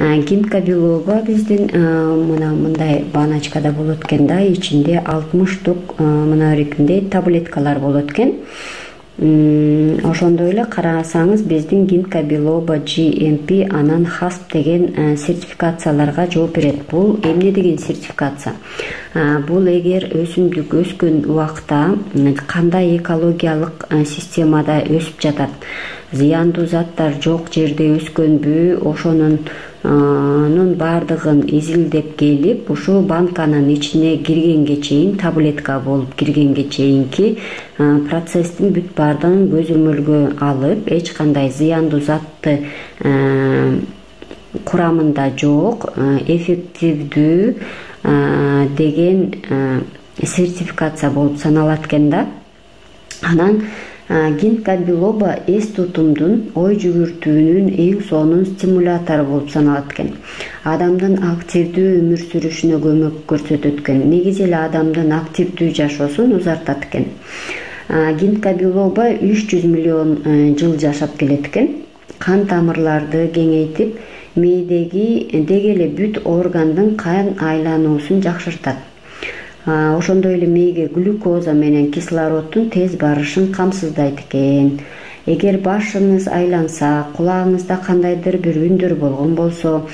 Гинка белоба биздин мына мындай баночкада болот экен да, ичинде 60 штук мына эркиндей таблеткалар болот экен. Ошондой эле карасаңыз биздин Гинка белоба GMP анан HACCP деген сертификацияларга жооп берет. Бул эмне деген сертификация? Бул эгер өсүмдүк өскөн убакта кандай экологиялык системада өсүп жатат, зыяндуу заттар жок жерде өскөнбү, ошонун баардыгын изилдеп келип, ушул банканын ичине киргенге чейин, таблетка болуп киргенге чейинки процесстин бүт баардыгын көзөмөлгө алып, эч кандай зыяндуу затты курамында жок, эффективдүү деген сертификация болуп саналат экен да. Анан Гинка белоба эс тутумдун, ой жүгүртүүнүн эң сонун стимулятору болуп саналат экен. Адамдын активдүү өмүр сүрүшүнө көмөк көрсөтөт экен. Негизи эле адамдын активдүү жашоосун узартат экен. Гинка белоба 300 миллион жыл жашап келет экен. Кан тамырларды кеңейтип, мээдеги деги эле бүт органдын кан айлануусун жакшыртат. Ошондой эле мээге глюкоза менен кислороддун тез барышын камсыздайт экен. Эгер башыңыз айланса, кулагыңызда кандайдыр бир үндөр болгон болсо,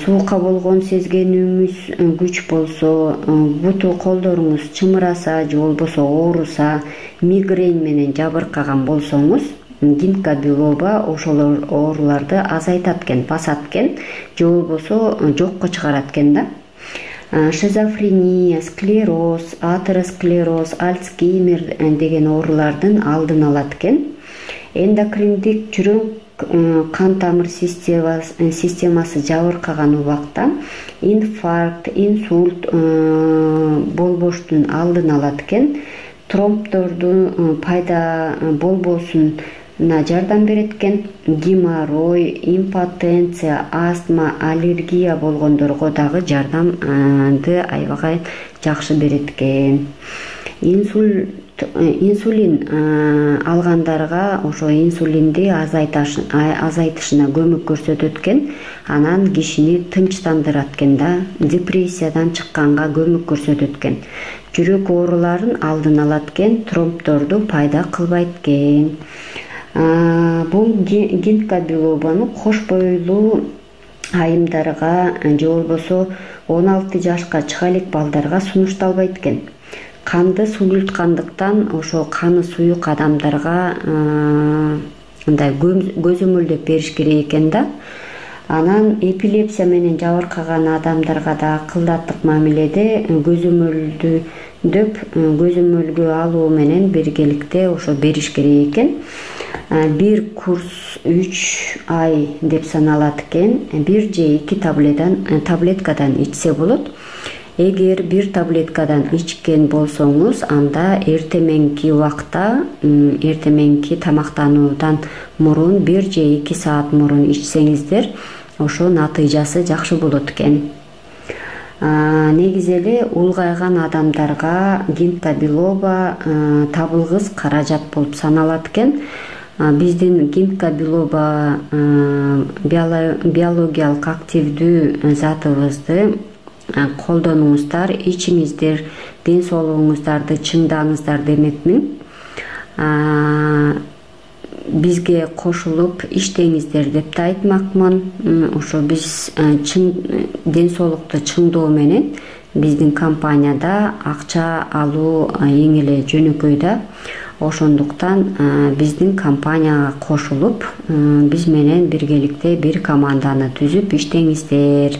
суукка болгон сезгенүүңүз күч болсо, буту колдоруңуз чымыраса же болбосо ооруса, мигрень менен жабыркаган болсоңуз, Гинка белоба ошол ооруларды азайтат экен, басат экен, же болбосо жокко чыгарат экен да. Шизофрения, склероз, атеросклероз, Альцгеймер деген оорулардын алдын алат экен. Эндокриндик жүрөк кан тамыр системасы жабыркаган убакта инфаркт, инсульт болбоштун алдын алат экен. Тромбдордун пайда болбосуна жардам берет экен. Геморрой, импотенция, астма, аллергия болгондорго дагы жардамды аябагай жакшы берет экен. Инсулин алгандарга ошо инсулинди азайтышына көмөк көрсөтөт экен. Анан кишини тынчтандырат экен да, депрессиядан чыкканга көмөк көрсөтөт экен. Жүрөк ооруларын алдын алат экен, тромбдорду пайда кылбайт экен. Бул Гинка белобаны кош бойлуу айымдарга же болбосо 16 жашка чыга элек балдарга сунушталбайт экен. Канды сулуйткандыктан ошо каны суюк адамдарга мындай көзөмөлдөп бериш керек экен да. Анан эпилепсия менен жабыркаган адамдарга да кылдаттык мамиледе көзөмөлгө алуу менен биргеликте ошо бериш керек экен. Бир курс 3 ай деп саналат экен. 1 же 2 таблеткадан ичсе болот. Эгер бир таблеткадан ичкен болсоңуз, анда эртеменки убакта, эртеменки тамактануудан мурун 1 же 2 саат мурун ичсеңиздер, ошо натыйжасы жакшы болот экен. Негизи эле улгайган адамдарга Гинка белоба табылгыс каражат болуп саналат экен. Биздин Гинка белоба биологиялык активдүү затыбызды колдонуңуздар, ичиңиздер, ден соолугуңуздарды чыңдаңыздар демекмин. Бизге кошулуп иштеңиздер деп да айтмакмын. Ошо биз ден соолукту чыңдоо менен биздин компанияда акча алуу эң эле жөнөкөй да. Ошондуктан биздин компанияга кошулуп, биз менен биргеликте бир команданы түзүп иштеңиздер.